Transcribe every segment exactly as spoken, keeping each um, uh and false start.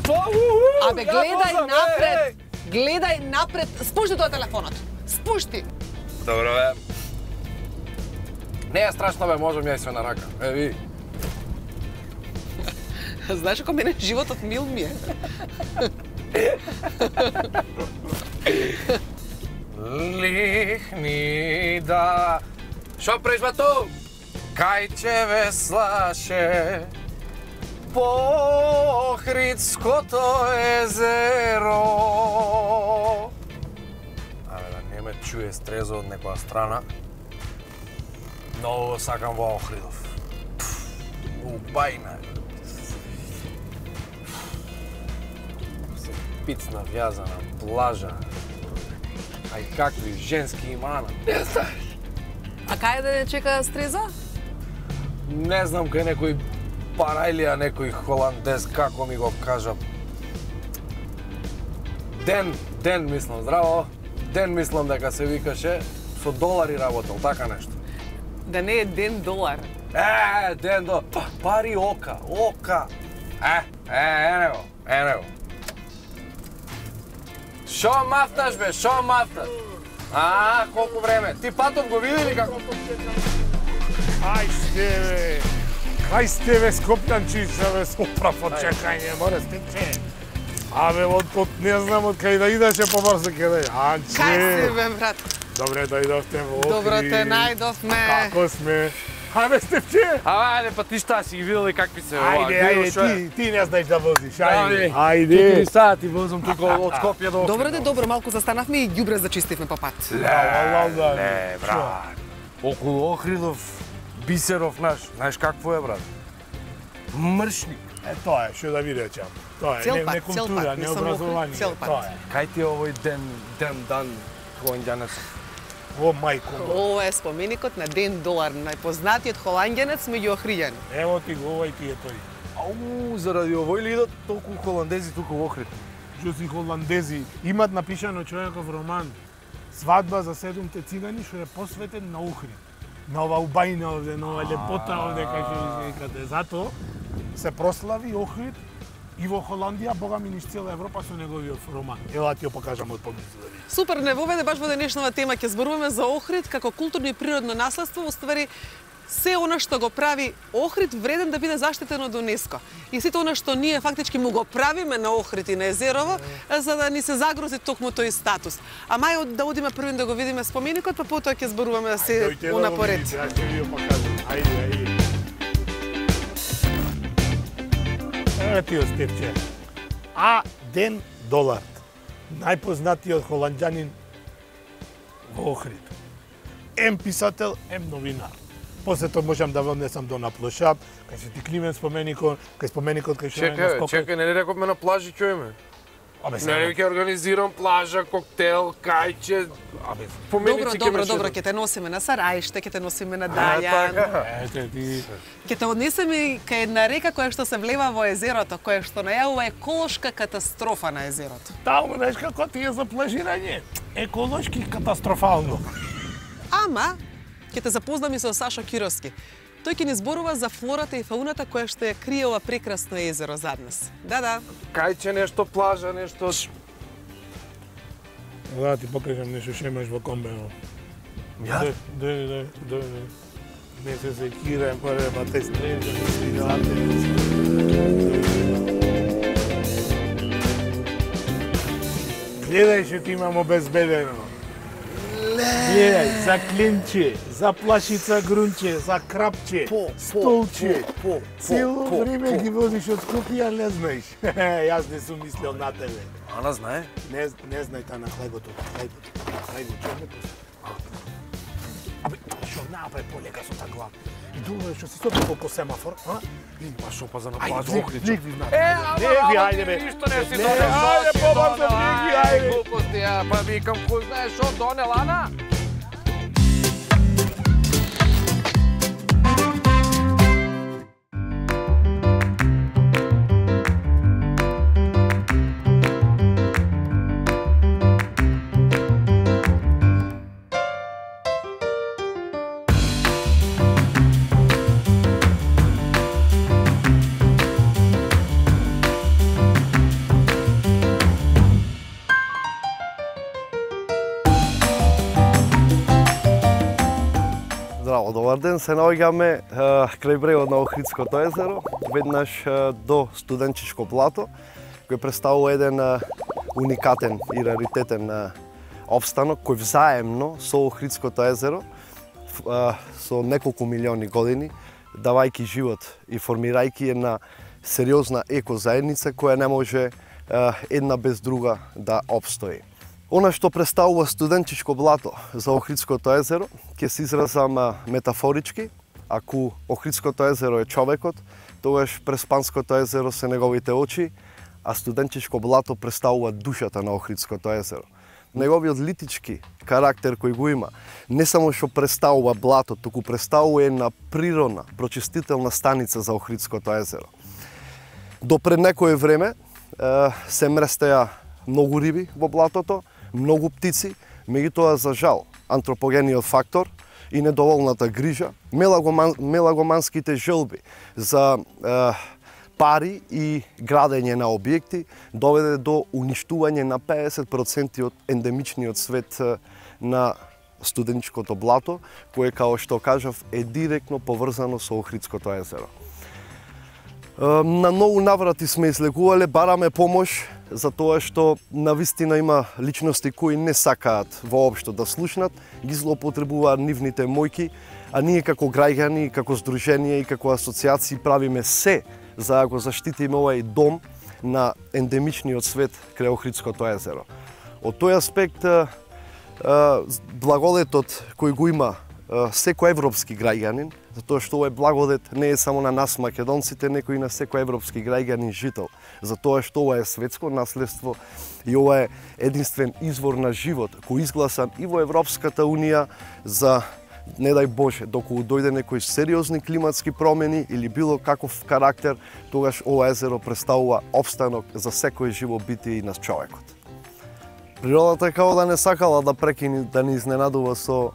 Абе, гледај напред. Гледај напред. Спушти тоа телефонот. Спушти. Добро, бе. Не е страшно, бе, можам ја и све на рака. Е, ви. Знаеш како мене животот мил ми е. Лихни да... Шо преш, бату? Кај че веслаше по Охридското езеро. Абе, да не ме чуе стрезо од некоја страна. Многу сакам во Охридов. Убајна. Се пицна вјазана плажа. Ај какви женски имана. Не знаеш. А кај да не чека стрезо? Не знам кај некој парајлија, некој холандез, како ми го кажа. Ден, Ден мислам, здраво. Ден мислам дека се викаше, со долари работел, така нешто. Да не е Ден долар. Е, Ден долар. Пари ока, ока. Е, е, е него, е него. Шо мафташ, бе, шо мафташ? А, колку време? Ти патов го види ли како? Ај сте, бе. Кај сте, бе, Скопјанчица, бе, соправо чекање, море стече. Абе, од, од, не знам од кај да идеше побрзо ке да. Анче. Кај си, бе, брат? Добре, дојдовте во Охрид. Добро те најдовме. Како сме? Абе, Стефче! Ајде, па ти шта си ги видели какви се ова? Ајде, ајде, ти, ти не знаеш да возиш, ајде. Ајде. Четири сати возам тука од Скопје до Охрид. Добро де, добро, малку застанавме и ѓубре зачистивме по пат. Ле, брат. Околу Охридов, бисеров наш, знаеш какво е, брат? Мршник. Е, тоа е, што да ви речам. Тоа е, Цел не, пат, не цел култура, пат, не не само образование. цел пат. Тоа е. Кај ти е овој ден, ден дан, холандјанец? О, мајко. Ова е споменикот на Ден долар, најпознатиот холандјанец меѓу охриѓани. Ево ти го, овај ти е тој. Ау, заради овој ли идат толку холандези тука во Охрид? Што си холандези, имат напишано човеков роман Свадба за седумте цигани, што е посветен на Охрид. На ова убајна овде, на ова лепота овде, кај што ви викате. Затоа се прослави Охрид и во Холандија, бога ми низ цела Европа со неговиот роман. Ева ти ја покажам од поблизу да видиш. Супер, не воведе баш во денешнава тема ќе зборуваме за Охрид како културно и природно наследство, уствари се она што го прави Охрид вреден да биде заштитен од УНЕСКО. И сето она што ние фактички му го правиме на Охрид и на Езерово, за да ни се загрози токму тој статус. А мај да одиме првин да го видиме споменикот, па потоа ќе зборуваме да се унапоред. Јас ќе ви ја покажам. Ајде, ајде. Еве ти Стефче. А Ден долар. Најпознатиот холанѓанин во Охрид. Ем писател, ем новинар. После тоа можам да внесам до на плошап, кај се ти Климен споменикот, кај споменикот кај што е на Чекај, Скопје. чекај, не ли рековме на плажи чуеме? Абе, Не ли ќе организирам плажа, коктел, кајче, абе, Добро, поменици добро, ме добро, шедат. ќе те носиме на Сарајште, ќе те носиме на А, Дајан. така. Ете ти. Ќе те однесеме кај една река која што се влева во езерото, која што најавува еколошка катастрофа на езерото. Таму, знаеш како ти е за плажирање? Еколошки катастрофално. Ама, ќе те запознам и со Сашо Кировски. Тој ќе ни зборува за флората и фауната која што ја крие ова прекрасно езеро зад нас. Да, да. Кајче нешто плажа, нешто... Да, ти покажам нешто што имаш во комбено. Ја? Да, да, да, да. Не се секираем, паре, па те стрежа, не стигате. Гледај што ти имам обезбедено. Гледај, за клинче, за плашица грунче, за крапче, По, по, столче. по, по, Цело по, време по. ги возиш од Скопје, не знаеш. Јас не сум мислел на тебе. Ана знае? Не, не знај та на хлебото, хлебото. Хајде, чорнето. Абе, што направи полека со та глава. И долу што се стопи по семафор, а? Па шо па за на Ајде, плажа влик, Охрид. влик ви знам. Е, ама, Не, ви, ама ајде, ти бе. ништо не си Не, донел, ајде, што си побрзо, донел, влик ви, ајде, ајде. глупости, ја, па викам, кој знае шо донел, Ана? Здраво, добар ден, се наоѓаме крај брегот на Охридското езеро, веднаш е, до студенчишко блато, кој представува еден е, уникатен и раритетен е, обстанок кој взаемно со Охридското езеро е, со неколку милиони години, давајќи живот и формирајќи една сериозна екозаедница која не може е, една без друга да обстои. Она што представува студенчишко блато за Охридското езеро, ќе се изразам метафорички. Ако Охридското езеро е човекот, тогаш Преспанското езеро се неговите очи, а студенчишко блато представува душата на Охридското езеро. Неговиот литички карактер кој го има, не само што представува блато, туку представува една природна, прочистителна станица за Охридското езеро. До пред некое време се мрестеа многу риби во блатото, многу птици, меѓутоа за жал антропогениот фактор и недоволната грижа, мелагоман, мелагоманските желби за е, пари и градење на објекти доведе до уништување на педесет проценти од ендемичниот свет на студенчишкото блато, кое, као што кажав, е директно поврзано со Охридското езеро. На многу наврати сме излегувале, бараме помош за тоа што навистина има личности кои не сакаат воопшто да слушнат, ги злоупотребуваат нивните мојки, а ние како граѓани, како здружение и како асоцијации правиме се за да го заштитиме овај дом на ендемичниот свет крај Охридското езеро. Од тој аспект, благодетот кој го има секој европски граѓанин, затоа што овој благодет не е само на нас македонците, неко и на секој европски граѓанин жител, затоа што ова е светско наследство и ова е единствен извор на живот кој изгласан и во Европската унија за, не дај Боже, доколку дојде некои сериозни климатски промени или било каков карактер, тогаш ова езеро представува опстанок за секој живо битие и на човекот. Природата као да не сакала да прекини, да ни изненадува со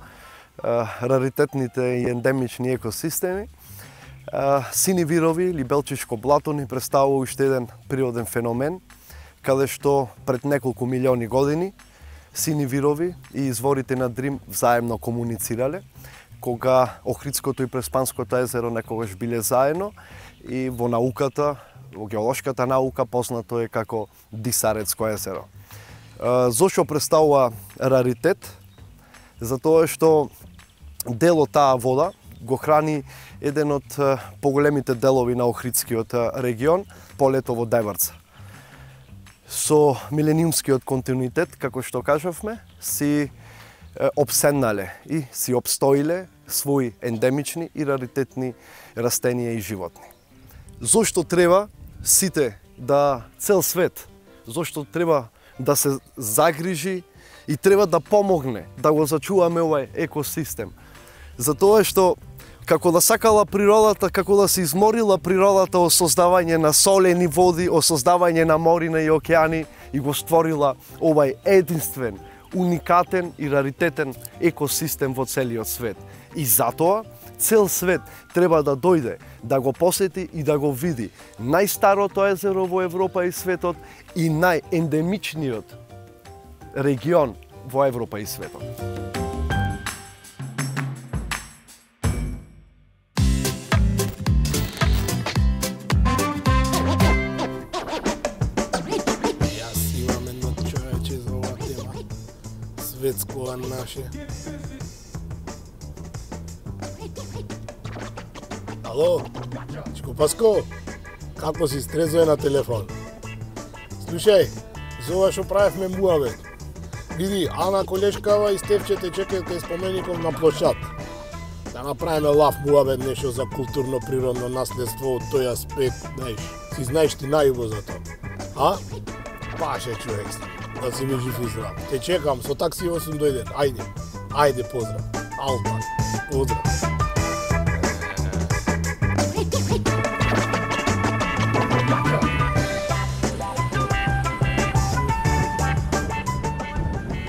раритетните и ендемични екосистеми. Сини вирови или белчишко блато ни представува уште еден природен феномен, каде што пред неколку милиони години сини вирови и изворите на Дрим взаемно комуницирале, кога Охридското и Преспанското езеро некогаш биле заедно и во науката, во геолошката наука познато е како Дисарецко езеро. Зошто представува раритет? Затоа што дел од таа вода го храни еден од поголемите делови на Охридскиот регион, полето во Деврца. Со милениумскиот континуитет, како што кажавме, си обседнале и си обстоиле своји ендемични и раритетни растенија и животни. Зошто треба сите да цел свет, зошто треба да се загрижи и треба да помогне да го зачуваме овај екосистем. Затоа што како да сакала природата, како да се изморила природата о создавање на солени води, о создавање на морина и океани и го створила овај единствен, уникатен и раритетен екосистем во целиот свет. И затоа цел свет треба да дојде, да го посети и да го види најстарото езеро во Европа и светот и најендемичниот регион во Европа и светот. Светско наше. Ало, Чико Паско, како си стрезо е на телефон? Слушај, за ова што правевме муавет. Види, Ана колешкава и Стефче те чекаат кај спомеников на площад. Да направиме лав муавет, нешто за културно природно наследство од тој аспект, знаеш. Си знаеш ти најубо за тоа. А? Паше човек си. Да си ми жив и здрав. Те чекам, со таксиво сум дојден. Ајде, ајде, поздрав. Алта, поздрав.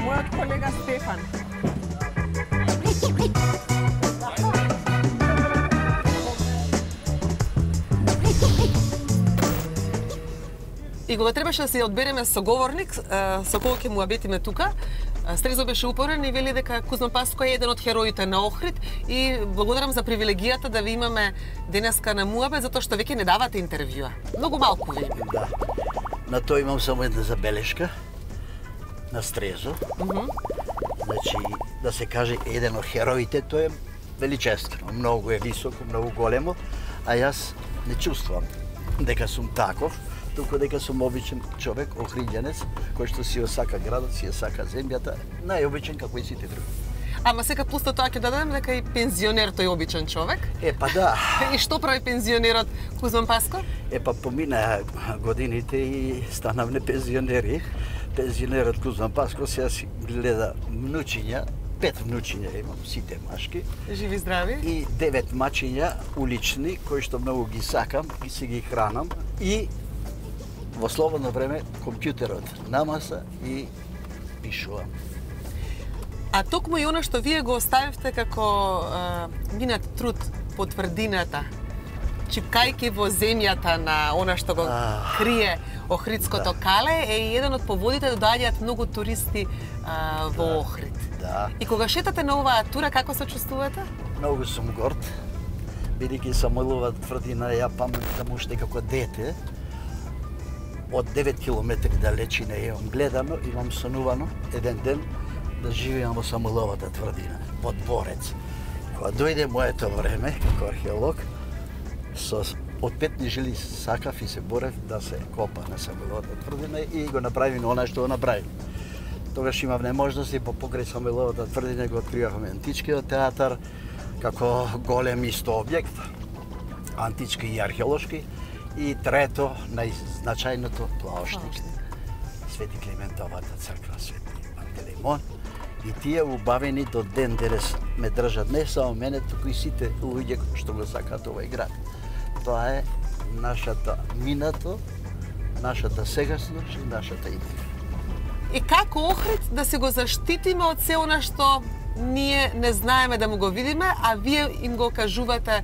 Мојот колега Стефан. И кога требаше да си одбереме соговорник со кој ќе му абетиме тука, Стрезо беше упорен и вели дека Кузман Паско е еден од хероите на Охрид и благодарам за привилегијата да ви имаме денеска на Муабет, затоа што веќе не давате интервјуа. Многу малку ви има. Да. На тоа имам само една забелешка на Стрезо. Mm -hmm. Значи, да се каже еден од хероите, тоа е величествено, многу е високо, многу големо, а јас не чувствувам дека сум таков, туку дека сум обичен човек, охриѓанец, кој што си ја сака градот, си ја сака земјата, најобичен како и сите други. Ама сега плюс тоа ќе дадем дека и пензионер тој обичен човек. Е, па да. И што прави пензионерот Кузман Паско? Е, па помина годините и станав не пензионери. Пензионерот Кузман Паско сега си гледа внучиња, пет внучиња имам, сите машки. Живи здрави. И девет мачиња улични, кои што многу ги сакам и си ги хранам. И во слободно време компјутерот на маса и пишувам. А токму и она што вие го оставивте како а, минат труд по тврдината, чипкајки во земјата на она што го крие Охридското да. кале, е еден од поводите да доаѓаат многу туристи а, во да. Охрид. Да. И кога шетате на оваа тура, како се чувствувате? Многу сум горд, бидејќи сам од оваа тврдина, ја памтам уште како дете, од девет километри далечина имам гледано, имам сонувано еден ден да живеам во Самуиловата тврдина, во дворец. Кога дојде моето време како археолог, со од петни жили сакав и се борев да се копа на Самуиловата тврдина и го направи она што го направи. Тогаш имав неможност и по покрај Самуиловата тврдина го откривавме античкиот театар како голем исто објект, антички и археолошки, и трето најзначајното плаошник, Свети Климентовата црква, Свети Пантелеймон. И тие убавени до ден денес ме држат не само мене, туку и сите луѓе што го сакаат овој град. Тоа е нашата минато, нашата сегашност и нашата идеја. И како Охрид да се го заштитиме од се она што ние не знаеме да му го видиме, а вие им го кажувате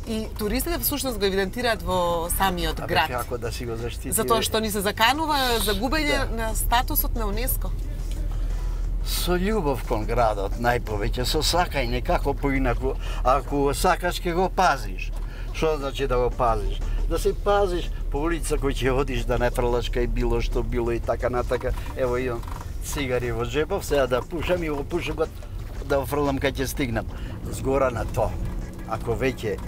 и туристите всушност го евидентираат во самиот Абе, град. како да си го заштити? Затоа што ни се заканува за губење Да. на статусот на УНЕСКО. Со љубов кон градот, најповеќе, со сакање, како поинаку, ако сакаш ќе го пазиш. Што значи да го пазиш? Да се пазиш по улица кој ќе одиш да не прелашка и било што било и така натака. Ево имам цигари во джепов, сега да пушам и во пушокот да офрлам кај ќе стигнам. Згора на тоа, ако веќе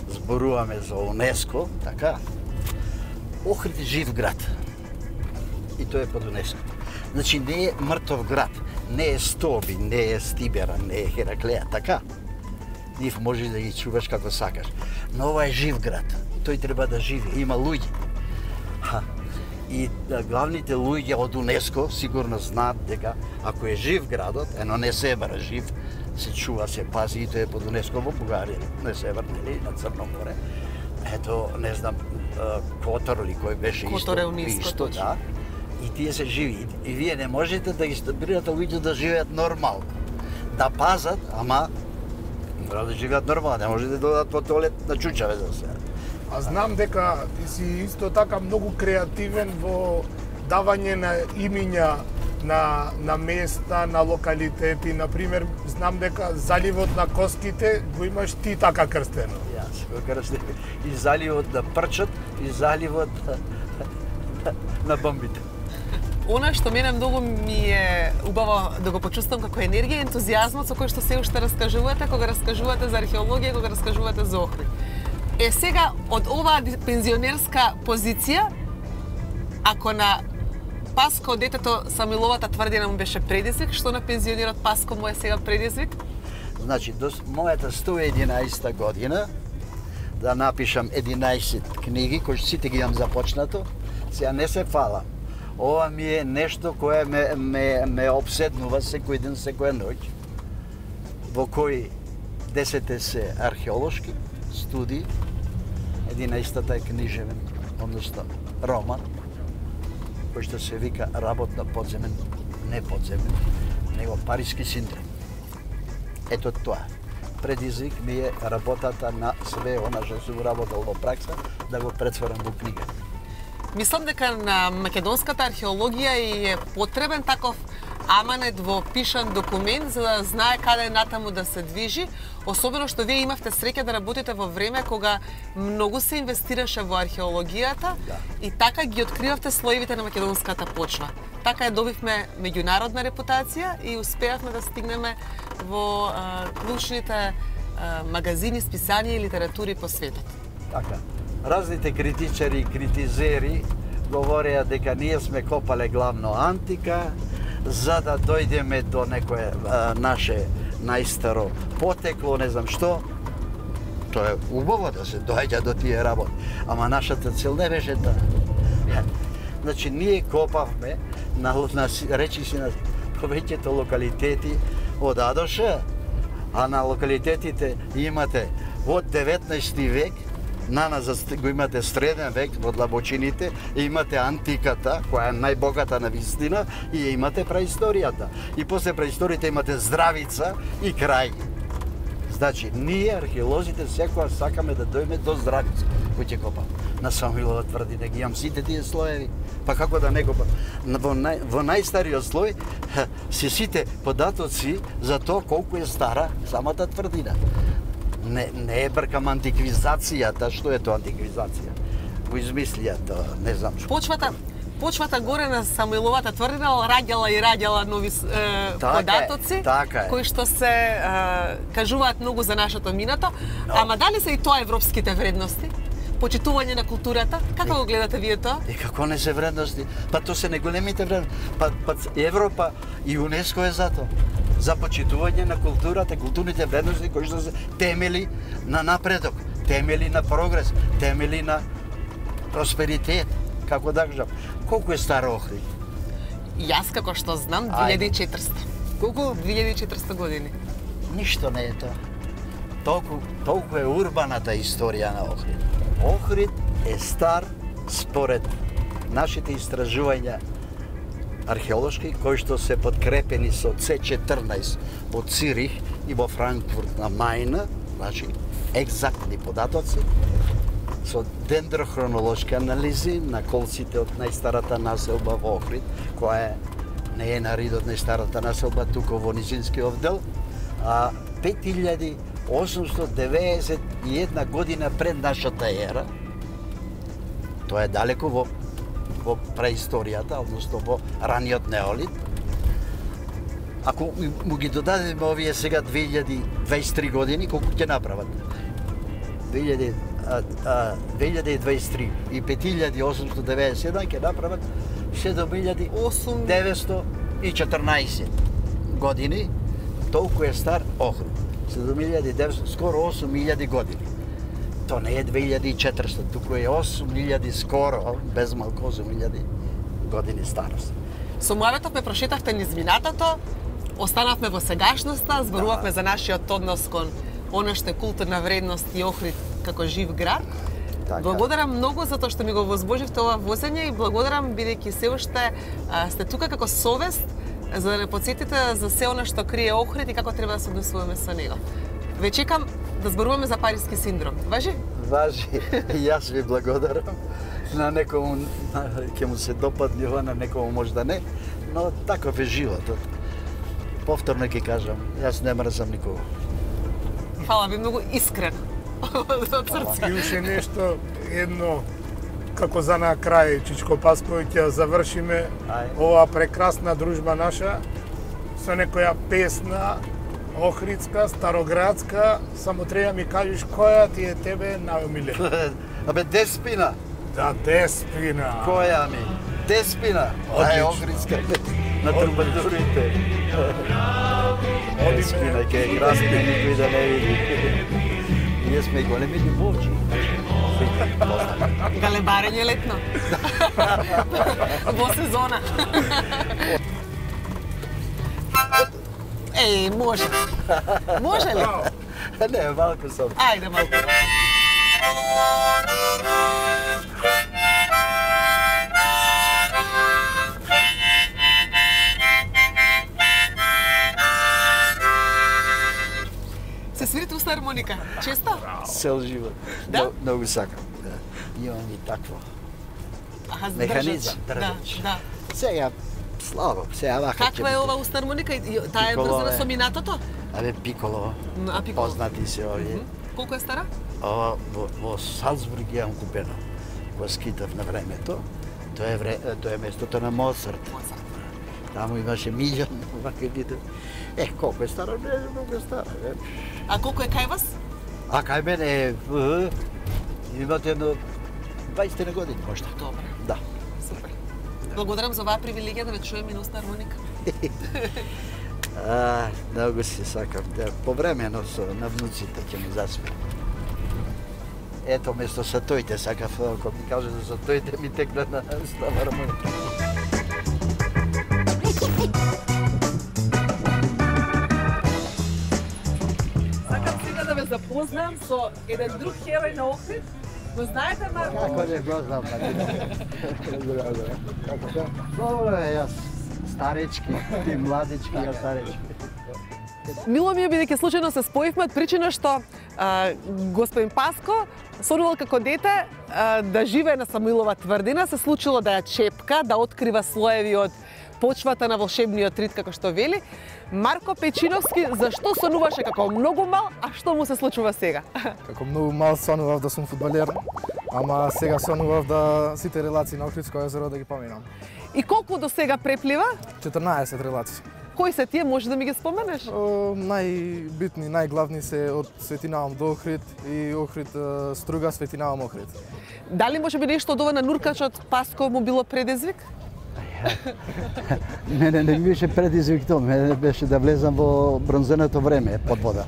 зборуваме за УНЕСКО, така, Охрид е жив град. И тоа е под УНЕСКО. Значи не е мртов град, не е Стоби, не е Стибера, не е Хераклеја, така? Нив можеш да ги чуваш како сакаш. Но ова е жив град. Тој треба да живи, има луѓе. Ха. И да, главните луѓе од УНЕСКО сигурно знаат дека ако е жив градот, ено не Себер жив, се чува, се пази и тоа е под УНЕСКО во Бугарија, не Себер, нели, на Црно море. Ето, не знам, Котор или кој беше Котор исто, е УНЕСКО, исто, точно. да. И тие се живи. И вие не можете да ги стабилирате луѓе да живеат нормално. Да пазат, ама мора да живеат нормално, не можете да додат по тоалет на чучаве за се. А знам дека ти си исто така многу креативен во давање на имиња на, на места, на локалитети. Например, знам дека заливот на Коските го имаш ти така крстено. Јас го крстев и заливот на Прчот и заливот на бомбите. Она што мене многу ми е убаво да го почувствам како енергија и ентузијазмот со кој што се уште раскажувате, кога раскажувате за археологија, кога раскажувате за Охрид. Е сега, од оваа пензионерска позиција, ако на Паско детето Самуиловата тврдина му беше предизвик, што на пензионерот Паско му е сега предизвик? Значи, до мојата сто и единаесета година да напишам единаесет книги, кои сите ги имам започнато, сега не се фала. Ова ми е нешто кое ме, ме, ме обседнува секој ден, секоја ноќ, во кои десете се археолошки студии, единаесетата е книжевен, односно роман, кој што се вика Работ на подземен, не подземен, него Париски синдром. Ето тоа. Предизвик ми е работата на све она што сум работел во пракса, да го претворам во книга. Мислам дека на македонската археологија е потребен таков аманет во пишан документ за да знае каде натаму да се движи, особено што вие имавте среќа да работите во време кога многу се инвестираше во археологијата Да. и така ги откривавте слоевите на македонската почва. Така ја добивме меѓународна репутација и успеавме да стигнеме во а, клучните а, магазини, списанија и литератури по светот. Така. Разните критичари и критизери говореа дека ние сме копале главно антика, за да дојдеме до некое а, наше најстаро потекло, не знам што. Тоа е убаво да се доаѓа до тие работи, ама нашата цел не беше таа. Значи, ние копавме на, на речи си на повеќето локалитети од А до Ш, а на локалитетите имате од деветнаести век, на нас го имате среден век во длабочините, имате антиката, која е најбогата на вистина, и имате праисторијата. И после праисторијата имате здравица и крај. Значи, ние, археолозите, секоја сакаме да дојме до здравица, кој ќе копам. На Самуилова тврдина ги имам сите тие слоеви, па како да не копам. Во, нај, во најстариот слој се сите податоци за тоа колку е стара самата тврдина. Не, не е бркам антиквизацијата, што е тоа антиквизација? Го измислија тоа, не знам што. Почвата Почвата горе на Самуиловата тврдина раѓала и раѓала нови е, така податоци, е, така е. кои што се е, кажуваат многу за нашето минато. Но. Ама дали се и тоа европските вредности? Почитување на културата? Како го гледате вие тоа? И како не се вредности? Па тоа се неголемите вредности. Па, па Европа и УНЕСКО е за тоа. За почитување на културата, културните вредности кои што се темели на напредок, темели на прогрес, темели на просперитет, како да кажам. Колку е стар Охрид? Јас како што знам, Ајде. две илјади и четиристо. Колку? две илјади и четиристо години. Ништо не е тоа. Толку, толку е урбаната историја на Охрид. Охрид е стар според нашите истражувања археолошки, кои што се подкрепени со С четрнаесет од Цирих и во Франкфурт на Мајна, значи екзактни податоци, со дендрохронолошки анализи на колците од најстарата населба во Охрид, која е, не е на ридот најстарата населба, туку во низинскиот дел, а пет илјади осумстотини деветдесет и една година пред нашата ера, тоа е далеку во, во преисторијата, односно во раниот неолит. Ако му ги додадеме овие сега две илјади дваесет и три години, колку ќе направат? две илјади дваесет и три и пет илјади осумстотини деветдесет и седум ќе направат седум илјади деветстотини и четрнаесет години. Толку е стар Охрид. седум илјади деветстотини, скоро осум илјади години. То не е две илјади и четиристо, туку е осум илјади скоро, без малку осум илјади години старост. Со муаветот ме прошетавте низ минатото, останавме во сегашноста, зборувавме Да. за нашиот однос кон она што е културна вредност и Охрид како жив град. Така. Благодарам многу за тоа што ми го возможивте ова возење и благодарам бидејќи се уште а, сте тука како совест за да не подсетите за се она што крие Охрид и како треба да се однесуваме со него. Ве чекам да зборуваме за париски синдром. Важи? Важи. И јас ви благодарам. На некому на, ќе му се допадне ова, на некому може да не, но таков е животот. Повторно ќе кажам, јас не мрзам никого. Фала ви многу искрено. Од срце. И уште нешто, едно, како за на крај, Чичко Паскови, ќе завршиме Ај. оваа прекрасна дружба наша со некоја песна охридска, староградска, само треба ми кажеш која ти е тебе најомилена. Абе, Деспина, Да, Деспина. која ми? Деспина, тоа е Одлично. охридска на трубадурите. Деспина ќе красни никој да не види. Ние сме големи љубовчи. Галебарење летно. Во сезона. Еј, може. Може ли? Не, малку сам. Ајде малку. Се свирите уста хармоника? Често? Цел живот. Да? Много- Многу сакам. Да. Имам и такво. Аха, Механизам, држач. држач. Да, да. Сега слабо, сега вака. Каква е ова устна хармоника? Таа е Пиколо врзана е. со минатото? Абе, пиколо. А пиколо? Познати се овие. Колку е стара? Ова во, во Салцбург ја имам купено. Во скитав на времето. Тоа е вре, тоа е местото на Моцарт. Таму имаше Милјан, вака видите. Е, колку е стара, не е многу стара. Е. А колку е кај вас? А кај мене е, е, имате едно дваесет години можда. Добре. Да. Супер. Благодарам за оваа привилегија да ве чуеме на устна хармоника. А, многу се сакам. Да, повремено со на внуците ќе ми засме. Ето, место сатојте, сакав, кога ми каже за сатојте, ми текна на става хармоника. Сакам сега да ве запознам со еден друг херој на Охрид. Го знаете, Марко? Како не го знам, Добро е, јас старечки, ти младички, јас старечки. Мило ми е бидејќи случајно се споивме од причина што а, господин Паско сонувал како дете а, да живее на Самуилова тврдина, се случило да ја чепка, да открива слоеви од почвата на волшебниот рид, како што вели. Марко Печиновски, зашто сонуваше како многу мал, а што му се случува сега? Како многу мал сонував да сум фудбалер, ама сега сонував да сите релации на Охридско езеро да ги поминам. И колку до сега преплива? четрнаесет релации. Кои се тие, може да ми ги споменеш? О, најбитни, најглавни се од Светинавам до Охрид и Охрид Струга, Светинавам Охрид. Дали може би нешто од ова на нуркачот Паско му било предизвик? Мене не ми беше предизвик тоа, мене беше да влезам во бронзеното време под вода.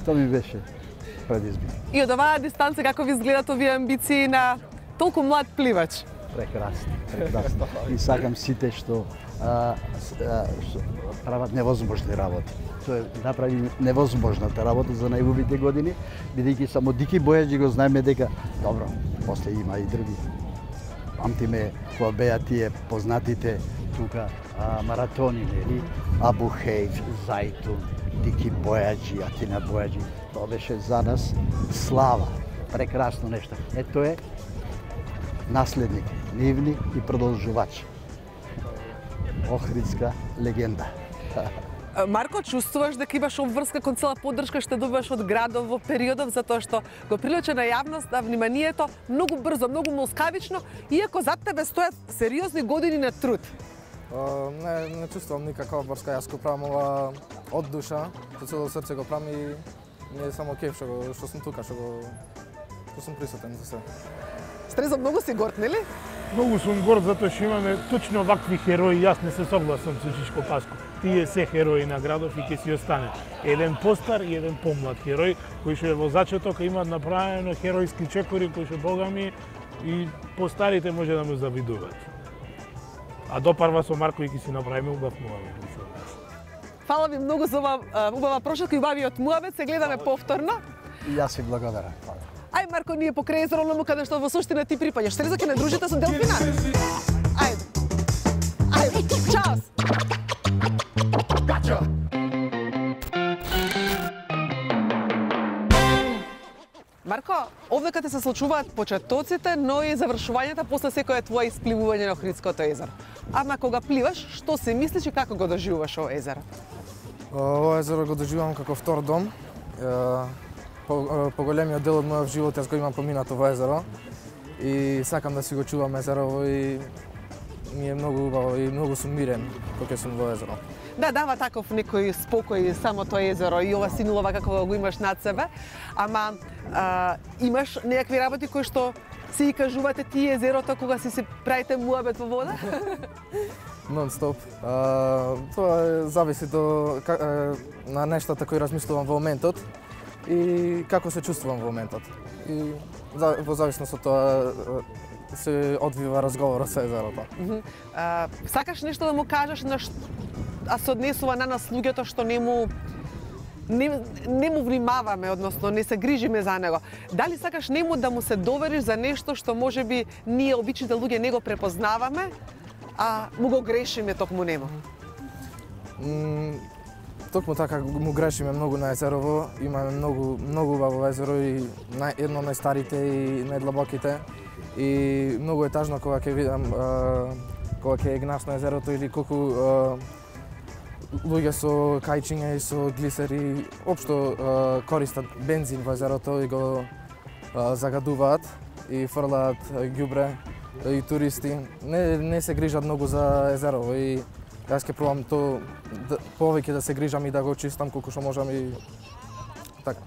Тоа ми беше предизвик. И од оваа дистанца како ви изгледат овие амбиции на толку млад пливач? Прекрасно, прекрасно. И сакам сите што а, а, што прават невозможни работи. Тоа направи невозможната работа за најубавите години, бидејќи само Дики Бојаджи го знаеме дека добро, после има и други. Памтиме кога беа тие познатите тука а, маратони, нели? Абу Хейф, Зајтун, Дики Бојаджи, Атина Бојаджи. Тоа беше за нас слава, прекрасно нешто. Ето е наследник, нивни и продолжувач. Охридска легенда. Марко, чувствуваш дека имаш обврска кон цела поддршка што добиваш од градов во периодов, затоа што го прилуча на јавност да вниманието многу брзо, многу молскавично, иако зад тебе стојат сериозни години на труд. О, не, не чувствувам никаква обврска, јас го правам ова од душа, со цело срце го правам и не е само кеф што, го, што сум тука, што, го, што сум присутен за се. Стрезо, многу си горд, нели? Многу сум горд затоа што имаме точно вакви херои, јас не се согласам со Чичко Паско. Тие се херои на градов и ќе си остане. Еден постар и еден помлад херој, кој што е во зачеток имаат направено херојски чекори кои што богами и постарите може да му завидуваат. А допарва со Марко и ќе си направиме убав муабет. Фала ви многу за ова убава прошетка и убавиот муабет, се гледаме повторно. И јас ви благодарам. Ај, Марко, ние покрај езеро Лому, каде што во суштина ти припаѓаш. Стрезо, ќе не дружите со делфина? Ајде. Ајде, чаос! Марко, овде каде се случуваат почетоците, но и завршувањата после секое твое испливување на Охридското езеро. Ама кога пливаш, што се мислиш и како го доживуваш ова езеро? Ова езеро го доживувам како втор дом. По, поголемиот дел од мојот живот јас го имам поминато во езеро и сакам да си го чувам езерово и ми е многу убаво и многу сум мирен кога сум во езеро. Да, дава таков некој спокој само тоа езеро и ова синилова како го имаш над себе, ама а, имаш некакви работи кои што си ги кажувате ти езерото кога си се правите муабет во вода? Нон-стоп. Тоа зависи до, на нештата кои размислувам во моментот и како се чувствувам во моментот. И во зависност од тоа се одвива разговорот со езерото. Mm -hmm. а, сакаш нешто да му кажеш на ш... а се однесува на нас луѓето што не му не, не му внимаваме, односно не се грижиме за него. Дали сакаш нему да му се довериш за нешто што можеби ние обичните луѓе не го препознаваме, а му го грешиме токму нему? Mm, токму така му грешиме многу на езерово, имаме многу многу убаво езеро и нај, едно од најстарите и најдлабоките. И многу е тажно кога ќе видам кога ќе гнаш на езерото или колку а, луѓе со кајчиња и со глисери општо а, користат бензин во езерото и го а, загадуваат и фрлаат ѓубре и туристи. Не, не се грижат многу за езерово и јас ќе пробам то да, повеќе да се грижам и да го чистам колку што можам и така.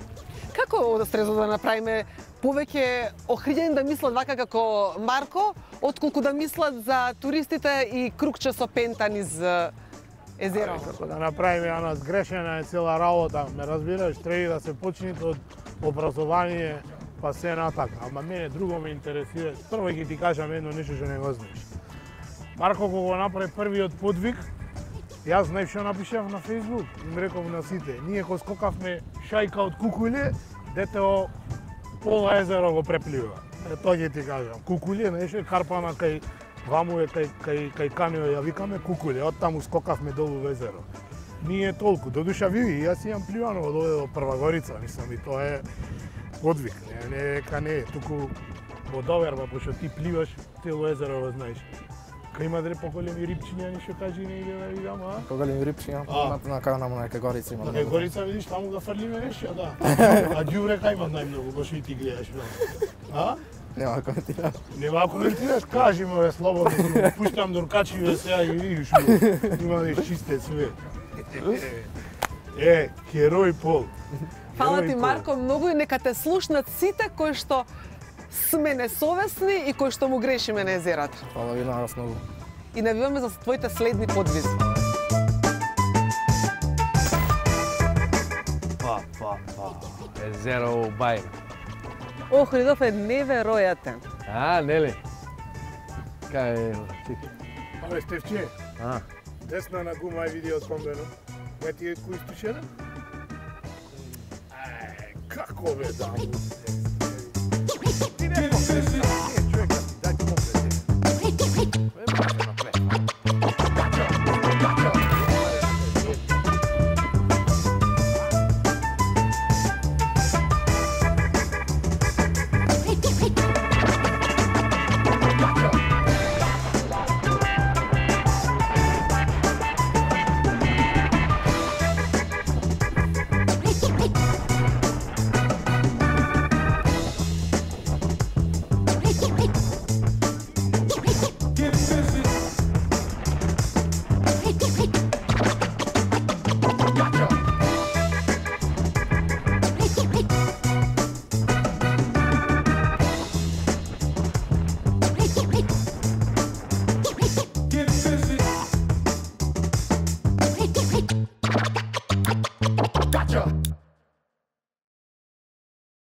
Како да стрезо да направиме повеќе охриѓани да мислат вака како Марко, отколку да мислат за туристите и кругче со пента низ езеро? Како да направиме она сгрешена е цела работа, ме разбираш, треба да се почне од образование па се натака. Ама мене друго ме интересира. Прво ќе ти кажам едно нешто што не го знаеш. Марко кога го направи првиот подвиг, јас знаеш што напишав на Facebook, им реков на сите, ние го скокавме шајка од кукуле, дете о пола езеро го преплива. Е, тоа ќе ти кажам. Кукуле, нешто карпана кај ваму е кај кај кај Канео ја викаме кукуле, од таму скокавме долу во езеро. Ние толку, додуша види, јас имам пливано од овде до Прва Горица, мислам и тоа е подвиг, не не дека не, туку во доверба, пошто ти пливаш цело езеро го знаеш. Кај има дре поголеми рибчиња, ништо кажи не иде да видам, а? Поголеми рибчиња, на на кај на кај Горица има. На кај Горица видиш таму да фрлиме нешто, да. А ѓубре кај има најмногу, баш и ти гледаш, а? Нема да коментирам. Нема коментираш, кажи ме слободно, пуштам дуркачиве сега и видиш, има да изчисте све. Е, херој Пол. Фала ти, Марко, многу и нека те слушнат сите кои што сме несовесни и кои што му грешиме на езерата. Фала ви на вас многу. И навиваме за твоите следни подвизи. Па, па, па. Езеро Бајна. Охридов е неверојатен. А, нели? Кај е, чеки. Абе, Стефче, А, десна на гума е видео спомбено. Ме ти е кој стушера? Ај, како бе, да. Ти не помнеш. Get busy.